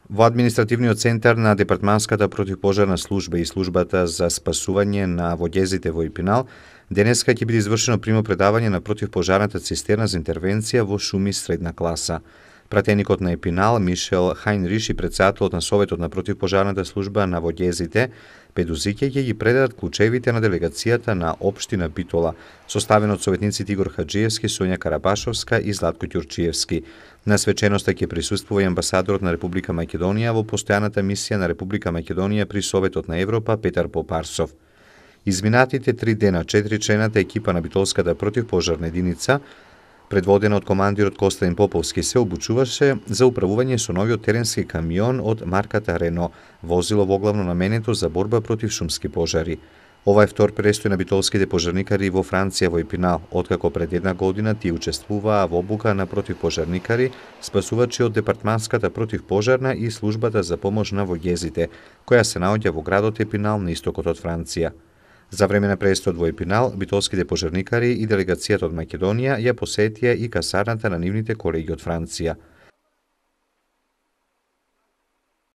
Во административниот центар на Департманската противпожарна служба и службата за спасување на водјезите во Епинал, денеска ќе биде извршено примопредавање на противпожарната цистерна за интервенција во шуми средна класа. Пратеникот на Епинал, Мишел Хајнриш, и председателот на Советот на противпожарната служба на водјезите, Педузиќе, ќе ги предадат клучевите на делегацијата на Општина Битола, составена од советниците Игор Хаджиевски, Сонја Карабашовска и Златко Ќурчиевски. На свеченоста ќе присуствува и амбасадорот на Република Македонија во постојаната мисија на Република Македонија при Советот на Европа Петар Попарсов. Изминатите 3 дена 4-члената екипа на Битолската противпожарна единица, предводена од командирот Костадин Поповски, се обучуваше за управување со новиот теренски камион од марката Рено, возило воглавно наменето за борба против шумски пожари. Ова е втор престој на битолските пожарникари во Франција во Епинал, откако пред една година тие учествуваа во обука на противпожарникари, спасувачи од Департманската противпожарна и службата за помош на водјезите, која се наоѓа во градот Епинал на истокот од Франција. За време на престојот во Епинал, битолските пожарникари и делегацијата од Македонија ја посетија и касарната на нивните колеги од Франција.